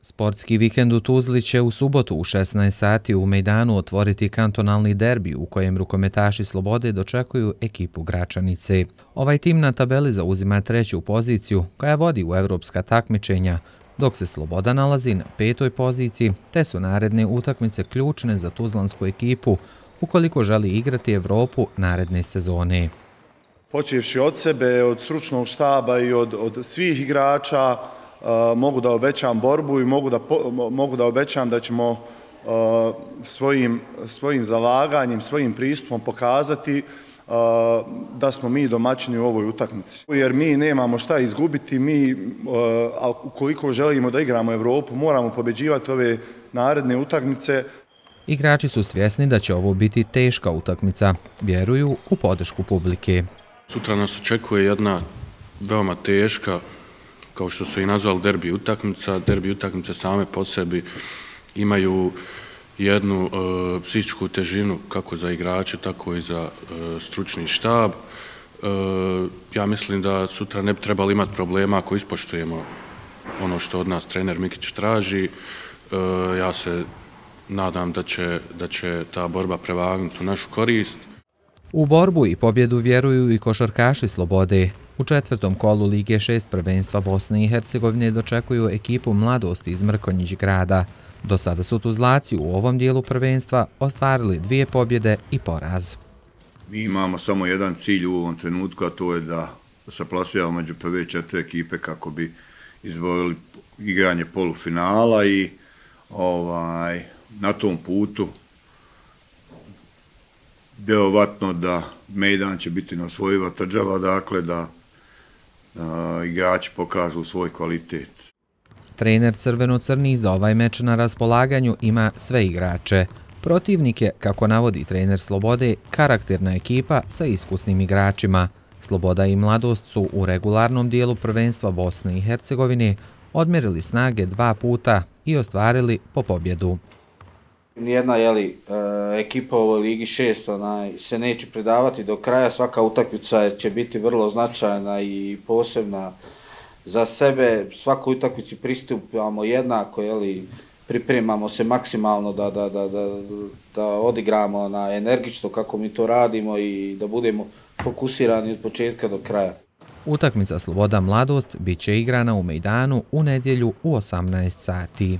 Sportski vikend u Tuzli će u subotu u 16 sati u Mejdanu otvoriti kantonalni derbi u kojem rukometaši Slobode dočekuju ekipu Gračanice. Ovaj tim na tabeli zauzima treću poziciju koja vodi u evropska takmičenja, dok se Sloboda nalazi na petoj poziciji, te su naredne utakmice ključne za tuzlansku ekipu ukoliko želi igrati Evropu naredne sezone. Počevši od sebe, od stručnog štaba i od svih igrača, mogu da obećam borbu i mogu da obećam da ćemo svojim zalaganjem, svojim pristupom pokazati da smo mi domaćini u ovoj utakmici. Jer mi nemamo šta izgubiti, a ukoliko želimo da igramo Evropu, moramo pobeđivati ove naredne utakmice. Igrači su svjesni da će ovo biti teška utakmica, vjeruju u podršku publike. Sutra nas očekuje jedna veoma teška, kao što su i nazvali derbi utakmica. Derbi utakmice same po sebi imaju jednu psihičku težinu kako za igrače, tako i za stručni štab. Ja mislim da sutra ne bi trebali imati problema ako ispoštujemo ono što od nas trener Mikić traži. Ja se nadam da će ta borba prevagnuti u našu korist. U borbu i pobjedu vjeruju i košarkaši Slobode. U četvrtom kolu Lige 6 prvenstva Bosne i Hercegovine dočekuju ekipu Mladosti iz Mrkonjić grada. Do sada su Tuzlaci u ovom dijelu prvenstva ostvarili 2 pobjede i poraz. Mi imamo samo jedan cilj u ovom trenutku, a to je da se plasiramo među prve 4 ekipe kako bi izborili igranje polufinala i na tom putu vjerovatno da Mejdan će biti neosvojiva tvrđava, dakle da igrači pokažu svoj kvalitet. Trener crveno-crnih za ovaj meč na raspolaganju ima sve igrače. Protivnik je, kako navodi trener Slobode, karakterna ekipa sa iskusnim igračima. Sloboda i Mladost su u regularnom dijelu prvenstva Bosne i Hercegovine odmjerili snage 2 puta i ostvarili po pobjedu. Nijedna ekipa u ovoj Ligi 6 se neće predavati do kraja, svaka utakmica će biti vrlo značajna i posebna za sebe. Svakoj utakmici pristupamo jednako, pripremamo se maksimalno da odigramo na energično kako mi to radimo i da budemo fokusirani od početka do kraja. Utakmica Sloboda Mladost bit će igrana u Mejdanu u nedjelju u 18 sati.